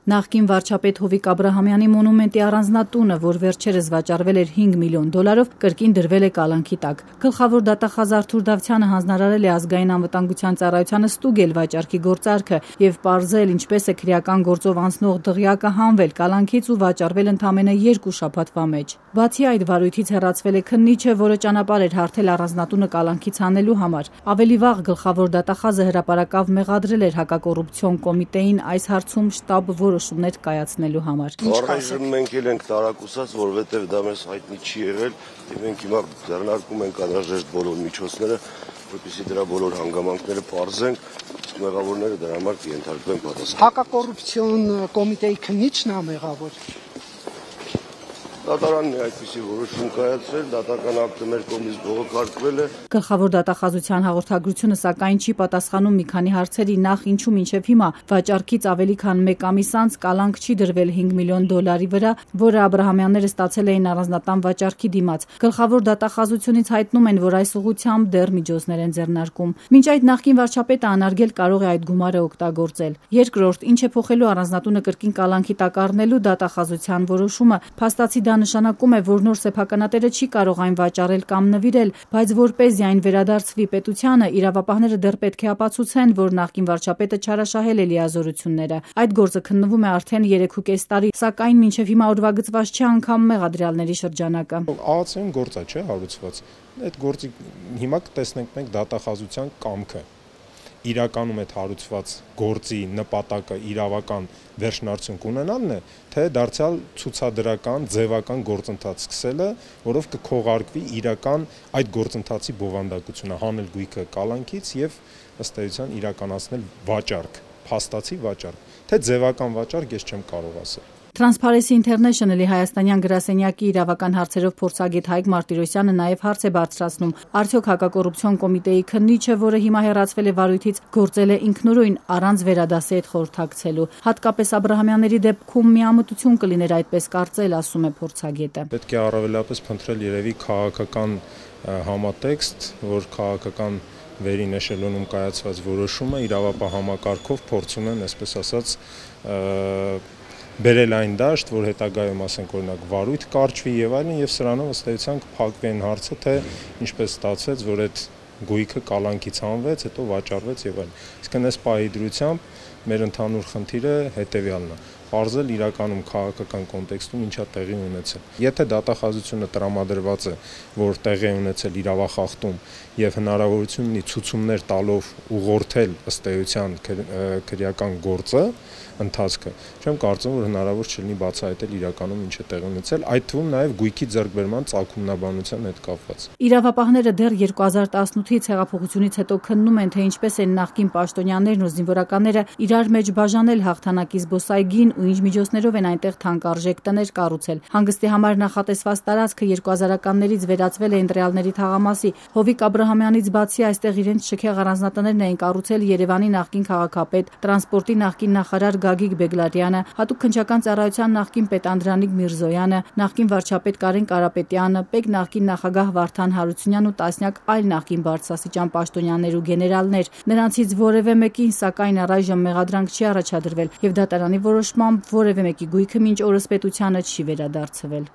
Նախկին վարչապետ Հովիկ Աբրահամյանի մոնումենտի առանձնատունը, որ վերջերս վաճառվել էր $5 միլիոն, կրկին դրվել է կալանքի տակ։ Գլխավոր դատախազ Արթուր Դավթյանը հանձնարարել է Ազգային անվտանգության ծառայությանը ստուգել վաճառքի գործարքը եւ պարզել, ինչպես է քրեական գործով անցնող դղյակը հանվել կալանքից ու վաճառվել ընդամենը 2 շաբաթվա մեջ։ Բացի այդ, վարույթից հեռացվել է քննիչը, որը ճանապարհ էր հարթել առանձնատունը կալանքից հանելու համար։ Ավելի վաղ գլխավոր դատախազը հրապարակավ մեղադրել էր հակակոռուպցիոն կոմիտեին այս հարցում շտապ որոշումներ կայացնելու համար։ Առայժմ մենք էլ ենք տարակուսած, որովհետև դա մեզ հայտնի չի եղել, եւ մենք հիմա ձեռնարկում ենք անհրաժեշտ բոլոր միջոցները, որպեսզի դրա բոլոր հանգամանքները պարզենք, իսկ մեղավորները դրա համար կենթարկվեն պատասխան։ Հակակոռուպցիոն կոմիտեի քննիչն է մեղավոր։ Դատարանն է այդպիսի որոշում կայացրել, դատական ակտը մեր կողմից բողոքարկվել է։ Գլխավոր դատախազության հաղորդագրությունը սակայն չի պատասխանում մի քանի հարցերի, նախ ինչու մինչև հիմա վաճառքից ավելի քան 1 ամիս անց կալանք չի դրվել $5 միլիոն վրա, որը Աբրահամյանները ստացել էին առանձնատան վաճառքի դիմաց։ Գլխավոր դատախազությունից հայտնում են, որ այս ուղղությամբ դեռ միջոցներ են ձեռնարկում։ Մինչ այդ նախկին վարչապետը անարգել կարող է այդ գումարը օգտագործել։ Երկրորդ, ինչ է փոխելու առանձնատունը կրկին կալանքի տակ առնելու դատախազության որոշումը, փաստացի դա նշանակում է, որ նոր սեփականատերը չի կարող այն վաճառել կամ նվիրել, բայց որպեսզի այն վերադարձվի պետությանը, իրավապահները դեռ պետք է ապացուցեն, որ նախկին վարչապետը չարաշահել է լիազորությունները։ Այդ գործը քննվում է արդեն 3.5 տարի, սակայն մինչև հիմա ուրվագծված չի անգամ մեղադրյալների շրջանակը։ Ահացիոն գործ է, չէ, հարուցված։ Այդ գործի հիմա կտեսնենք մենք դատախազության կամքը։ Իրականում այդ հարուցված գործի նպատակը իրավական վերջնարդյունք ունենալն է, թե դարձյալ ցուցադրական, ձևական գործընթաց սկսելը, որով կքողարկվի իրական այդ գործընթացի բովանդակությունը, հանել գույքը կալանքից եւ ըստ էության իրականացնել վաճառք, փաստացի վաճառք, թե ձևական վաճառք ես չեմ կարող ասել։ Transparency International-ի հայաստանյան գրասենյակի իրավական հարցերով փորձագետ Հայկ Մարտիրոսյանը նաև հարց է բարձրացնում. արդյոք հակակոռուպցիոն կոմիտեի քննիչը, որը հիմա հեռացվել է վարույթից, գործել է ինքնուրույն առանց վերադասի հետ խորհրդակցելու։ Հատկապես Աբրահամյանների դեպքում միամտություն կլիներ այդպես կարծել, ասում է փորձագետը։ Պետք է առավելապես փնտրել երևի քաղաքական համատեքստ, որ քաղաքական վերին էշելոնում կայացված որոշումը իրավապահ համակարգով փորձում են, այսպես ասած, բերել այն դաշտ, որ հետագայում ասենք օրինակ վարույթ կարճվի եւ այլն, եւ սրանով ըստ էության կփակվի այն հարցը, թե ինչպես ստացվեց, որ այդ գույքը կալանքից հանվեց, հետո վաճառվեց եւ այլն։ Իսկ այս պահի դրությամբ մեր ընդհանուր խնդիրը հետեւյալն է. պարզել իրականում քաղաքական կոնտեքստում ինչա տեղի ունեցել։ Եթե դատախազությունը տրամադրված է, որ տեղի ունեցել իրավախախտում եւ հնարավորություն ունի ցուցումներ տալով ուղղորդել ըստ էության քրեական գործը, ընթացքը, չեմ կարծում, որ հնարավոր չլինի բացահայտել իրականում ինչ է տեղի ունեցել, այդ թվում նաեւ գույքի ձեռքբերման ծագումնաբանության հետ կապված։ Իրավապահները դեռ 2018-ից հեղափոխությունից հետո քննում են, թե ինչպես են նախկին պաշտոնյաներն ու զինվորականները իրար մեջ բաժանել հաղթանակի զբոսայգին ու ինչ միջոցներով են այնտեղ թանկարժեք տներ կառուցել։ Հանգստի համար նախատեսված տարածքը 2000-ականներից վերածվել է ընտրյալների թաղամասի։ Հովիկ Աբրահամյանից բացի այստեղ իրենց շքեղ առանձնատներն էին կառուցել Երևանի նախկին քաղաքապետ, տրանսպորտի նախկին նախարար Գագիկ Բեգլարյանը, հատուկ քննչական ծառայության նախկին պետ Անդրանիկ Միրզոյանը, նախկին վարչապետ Կարեն Կարապետյանը, պետ նախկին նախագահ Վարդան Հարությունյանն ու տասնյակ այլ նախկին բարձրաստիճան պաշտոնյաներ ու գեներալներ։ Նրանցից որևէ մեկին սակայն առայժմ մեղադրանք չի առաջադրվել եւ դատարանի որոշմամբ որևէ մեկի գույքը մինչ օրս պետությանը չի վերադարձվել։